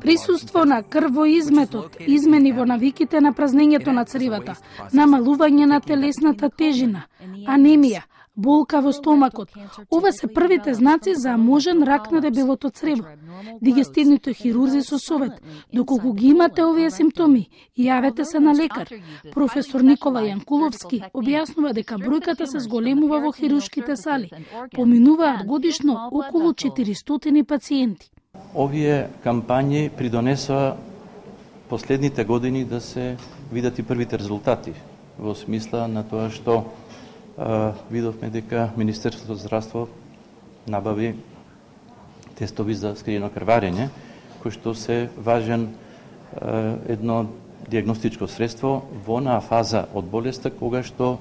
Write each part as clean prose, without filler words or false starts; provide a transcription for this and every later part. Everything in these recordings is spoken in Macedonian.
Присуство на крвоизметот, измени во навиките на празнењето на цревата, намалување на телесната тежина, анемија, болка во стомакот. Ова се првите знаци за можен рак на дебелото црево. Дигестивните хирурзи со совет, доколку ги имате овие симптоми, јавете се на лекар. Професор Никола Јанкуловски објаснува дека бројката се зголемува во хируршките сали. Поминуваат годишно околу 400 пациенти. Овие кампањи придонесоа последните години да се видат и првите резултати во смисла на тоа што видовме дека Министерството за здравство набави тестови за скриено крварење, кои што се важен едно диагностичко средство во онаа фаза од болеста кога што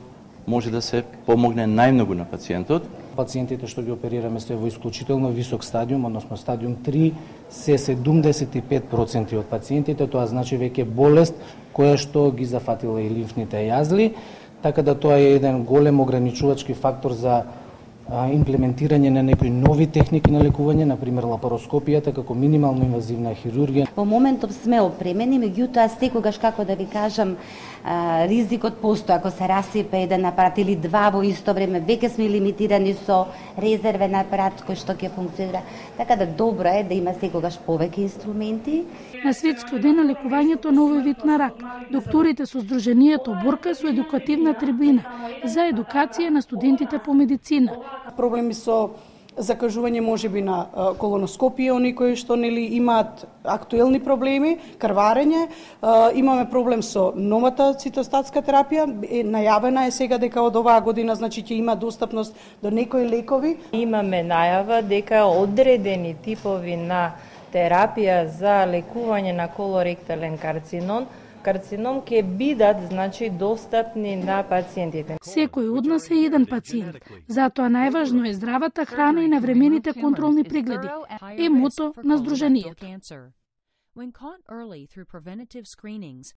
може да се помогне најмногу на пациентот. Пациентите што ги оперираме се во исклучително висок стадиум, односно стадиум 3, се 75% од пациентите, тоа значи веќе болест која што ги зафатила и лимфните јазли, така да тоа е еден голем ограничувачки фактор за имплементирање на некои нови техники на лекување, например лапароскопијата како минимално инвазивна хирургија. Во моментов сме опремени, меѓутоа секогаш, како да ви кажам, ризикот постои ако се расипе еден апарат или два во исто време, веќе сме лимитирани со резервен апарат кој што ќе функционира. Така да добро е да има секогаш повеќе инструменти. На светскиот ден на лекувањето на овој вид на рак, докторите со Сдруженијето Борка со едукативна трибина за едукација на студентите по медицина. Проблеми со закажување можеби на колоноскопија, оние кои што нели имаат актуелни проблеми, крварење, имаме проблем со новата цитостатска терапија, најавена е сега дека од оваа година значи ќе има достапност до некои лекови. Имаме најава дека одредени типови на терапија за лекување на колоректален карцином ќе бидат значи достапни на пациентите. Секој од нас е еден пациент. Затоа најважно е здравата храна и навремените контролни прегледи. Е мото на Сдруженијето. When caught early through preventative screenings,